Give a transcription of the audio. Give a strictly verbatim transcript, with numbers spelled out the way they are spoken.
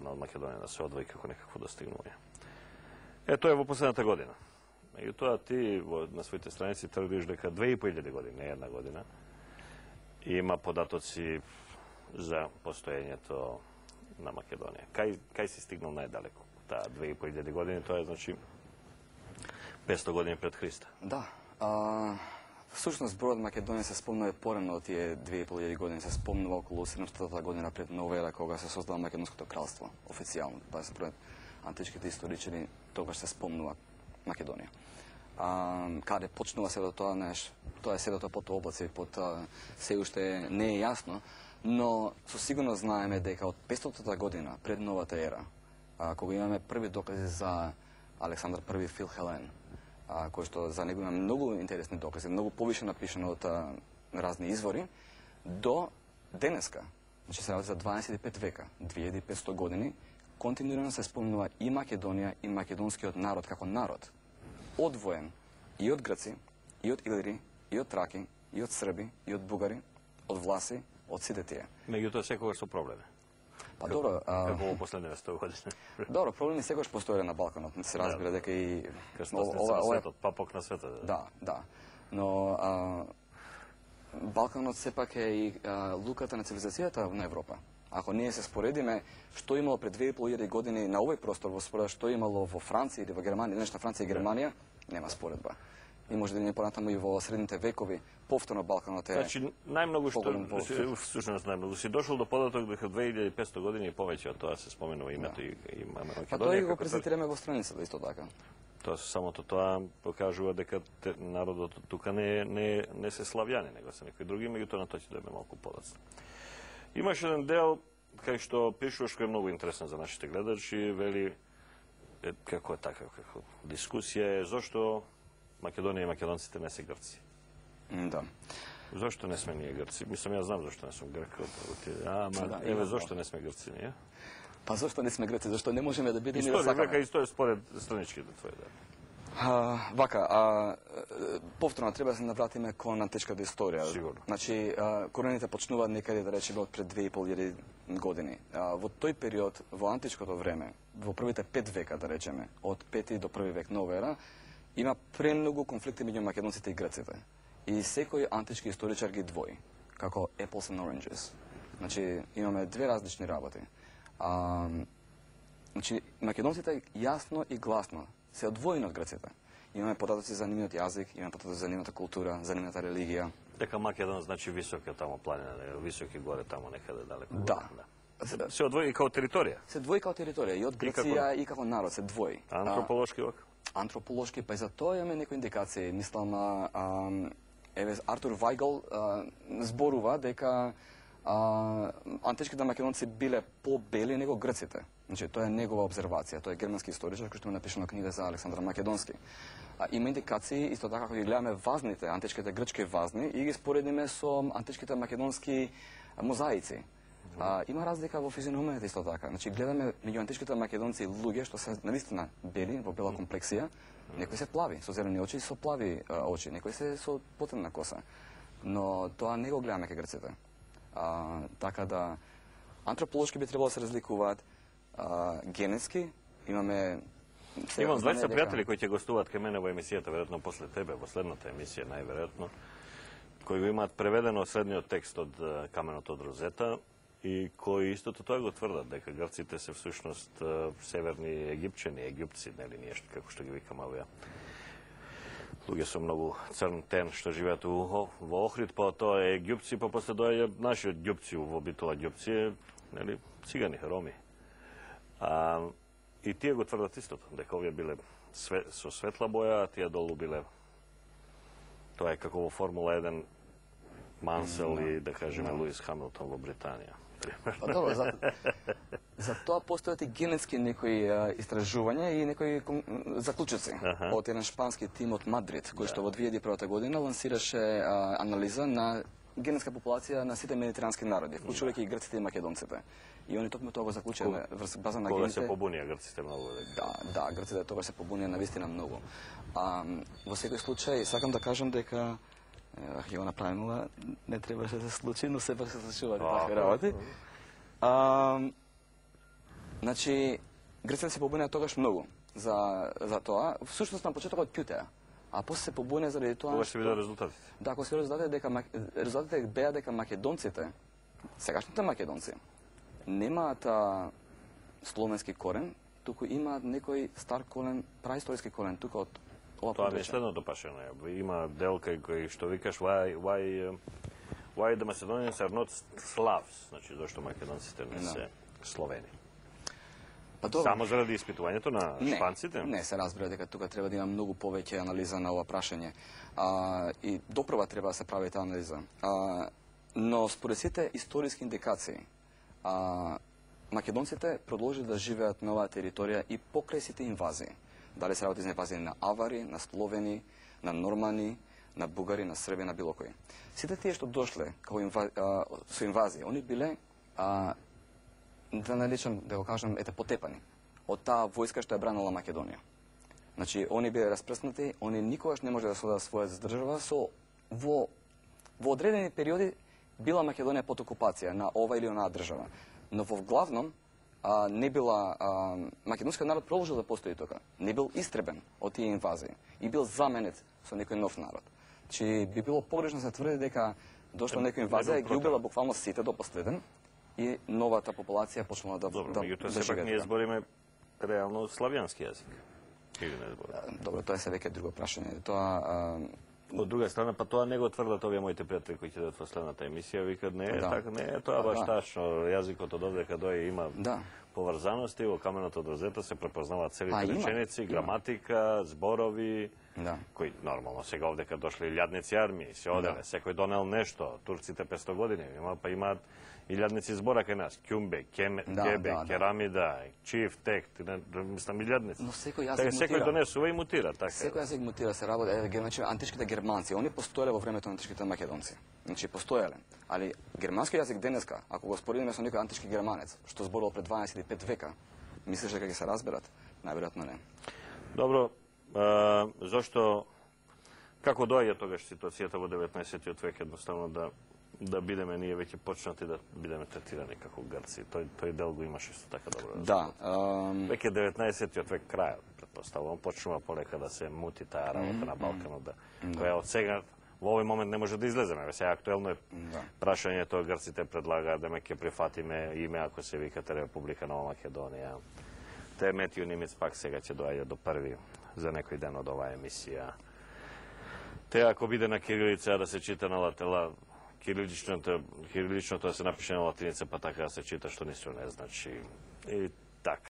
напредна од Македонија, да се одвои како некакво достигнување. Е, тоа е во последната година. Меѓутоа, ти на своите страници тврдиш дека две и по илјади години, не една година, има податоци за постоењето на Македонија. Кај, кај си стигнал најдалеку? Таа две и по илјади години, тоа е, значи, петстотини години пред Христа. Да. А, всушност, зборот Македонија се спомнува порано од тие две и по илјади години, се спомнува околу седумстотна година пред нова ера, кога се создава Македонското кралство, официјално. Па според античките историчари, тогаш се спомнува Македонија. А, каде почнува седо тоа, неш, тоа е седото под облаци, под а, се уште не е јасно, но со сигурно знаеме дека од петстотна година пред новата ера, а, кога имаме први докази за Александар Први Филхелен, а, кој што за него има многу интересни докази, многу повише напишано од а, разни извори, до денеска, значи се работи за дваесет и пет века, две илјади и петстотини години, континуирано се спомнува и Македонија и македонскиот народ како народ, одвоен и од грци, и од илири, и од траки, и од срби, и од бугари, од власи, од сите тие. Меѓутоа секогаш со проблеми. Па добро, како во последните сто години. Добро, проблеми секогаш постоеле на Балканот, се разбира дека и крстосница на светот, папок на светот. Да, да. Но а, Балканот сепак е и а, луката на цивилизацијата на Европа. Ако ние се споредиме што имало пред две и по илјади години на овој простор во споредба што имало во Франција или во Германија, нешто Франција и Германија, нема споредба. И може да не понатаму и во средните векови, повторно Балканот е... Значи, најмногу што, всушност најмногу, си дошол до податок дека две илјади и петстотини години и повеќе од тоа се споменува името да. и, и Македонија. Па тоа и го презентираме во страницата исто така. Тоа самото тоа покажува дека те, народот тука не, не, не се славјани, него се некои други, меѓутоа на тоа ќе дојме малку подоцна. Имаш еден дел кај што пишуваш кој е многу интересен за нашите гледачи, вели е, како е така, како дискусија е зошто Македонија и македонците не се грци. Да. Зошто не сме ние грци? Мислам, ја знам зошто не сум грк. Ама, да, еве, зошто не сме грци ние? Па зошто не сме грци? Зашто не можеме да бидеме и да сакаме? Историја, историја според страничките твои, да. А, вака, а, повторно треба да се навратиме кон античката историја. Сигурно. Значи, а, корените почнуваат некаде, да речеме, од пред две и по илјади години. А, во тој период, во античкото време, во првите пет века, да речеме, од пети до први век нова ера, има премногу конфликти меѓу македонците и грците. И секој антички историчар ги двои, како apples and oranges. Значи, имаме две различни работи. А, значи, македонците јасно и гласно се одвоени од грците. Имаме податоци за нивниот јазик, имаме податоци за нивната култура, за нивната религија. Дека Македон значи високи тамо планина, високи горе тамо некаде далеко. Да. да. Се одвои као територија. Се двои као територија и од Грција и, и како народ се двои. Антрополошки вака? Антрополошки, па и за тоа имаме некои индикации. Мислам, а, а, еве Артур Вајгл а, зборува дека а, античките македонци биле по-бели него грците. Значи, тоа е негова обзервација, тоа е германски историчар кој што му напишано книга за Александар Македонски. А, има индикации исто така кога ги гледаме вазните, античките грчки вазни и ги споредиме со античките македонски мозаици. А, има разлика во физиономијата исто така. Значи, гледаме меѓу античките македонци луѓе што се навистина бели, во бела комплексија, некои се плави, со зелени очи и со плави а, очи, некои се со потемна коса. Но тоа не го гледаме кај грците. А, така да, антрополошки би требало да се разликуваат, а, генетски, имаме... Имам дваесет пријатели кои ќе гостуваат кај мене во емисијата, веројатно после тебе, во следната емисија, најверојатно, кои го имаат преведено средниот текст од Каменот од Розета, и кои истото тоа го тврдат, дека грците се всушност северни египчани, египци, нели, нешто како што ги викам овие. Луѓе со многу црн тен што живеат во Охрид, па тоа е египци, па после доаѓа нашиот ѓупци, во битола ѓупци, нели, цигани, роми. А, и тие го тврдат истото, дека овие биле све, со светла боја, а тие долу биле, тоа е како во Формула еден Мансел и, да кажеме, Луис Хамилтон во Британија. Па добро, за, за тоа постојат и генетски некои а, истражувања и некои заклучоци Аха. од еден шпански тим од Мадрид, кој што во две илјади и прва година лансираше а, анализа на генетска популација на сите медитерански народи, вклучувајќи и грците и македонците. И они токму тоа го заклучиле врз база на Кога гените. се побунија грците многу? Да, да, грците тогаш се побунија навистина многу. А, во секој случај, сакам да кажам дека ќе го направим, не требаше да се случи, но сепак се случуваат такви работи. А, Значи, грците се побунеа тогаш многу за, за тоа. Всушност на почетокот ќутеа, а после се побунеа заради тоа. Кога се видеа резултатите? Да, кога се видеа резултатите дека резултатите беа дека македонците, сегашните македонци, немаат а, словенски корен, туку имаат некој стар корен, праисториски корен тука од ова Тоа ми е подрачје. следното прашање. Има дел кај кој што викаш why why uh, why the Macedonians are not Slavs, значи зошто македонците не се Словени. Па добро. Само заради испитувањето на Не, шпанците? Не, се разбира дека тука треба да има многу повеќе анализа на ова прашање. А, и допрва треба да се прави таа анализа. А, но според сите историски индикации, а, македонците продолжи да живеат на оваа територија и покрај сите инвазии. Дали се работи за инвазии на авари, на словени, на нормани, на бугари, на срби, на било кој. Сите тие што дошле како инва, а, со инвазии, они биле а, да наречам, да го кажам, ете потепани од таа војска што ја бранила Македонија. Значи, они биле распрснати, они никогаш не може да содат својата држава, со во, во одредени периоди била Македонија под окупација на ова или онаа држава. Но во главном а, не била, а, македонскиот народ продолжил да постои тука. Не бил истребен од тие инвазии и бил заменет со некој нов народ. Значи, би било погрешно да се тврди дека дошла некоја инвазија и ги убила буквално сите до последен и новата популација почнала да Добро, да, меѓутоа да сепак живее ние тука. збориме реално славјански јазик. Или не збориме? Добро, тоа е се веќе друго прашање. Тоа а, Од друга страна, па тоа не го тврдат овие моите пријатели кои ќе дадат во следната емисија, викат не е Да. така, не е тоа Да, баш да. тачно, јазикот од овде каде има да. поврзаности, во каменот од розета се препознаваат целите Па, има, реченици, има. граматика, зборови, Да. кои нормално сега овде кога дошли илјадници армии, се оделе, Да. секој донел нешто, турците петсто години, има па имаат илјадници збора кај нас, ќумбе, кеме, Да, кебе, да, да. керамида, чиф, тек, не, мислам илјадници. Но секој јазик Така мутира. секој донесува и мутира, така. Секој јазик мутира, се работи, е, значи античките германци, они постоеле во времето на античките македонци. Значи постоеле. Али германски јазик денеска, ако го споредиме со некој антички германец, што зборувал пред дванаесет и пет века, мислиш дека ќе се разберат? Најверојатно не. Добро, а, зошто, како доаѓа тогаш ситуацијата во деветнаесеттиот век, едноставно да да бидеме ние веќе почнати да бидеме третирани како грци. Тој тој дел го имаше исто така добро. Да. Um... Веќе деветнаесеттиот век крајот, претпоставувам, почнува полека да се мути таа работа на Балканот, да, која од сега во овој момент не може да излеземе. Ве сега актуелно е Да. прашањето, грците предлагаат да ме ќе прифатиме име ако се викате Република Нова Македонија. Те Метју Нимец пак сега ќе доаѓа до први за некој ден од оваа емисија. Те ако биде на кирилица да се чита на латела, кириличното, кириличното да се напише на латиница, па така да се чита, што ништо не значи. И така.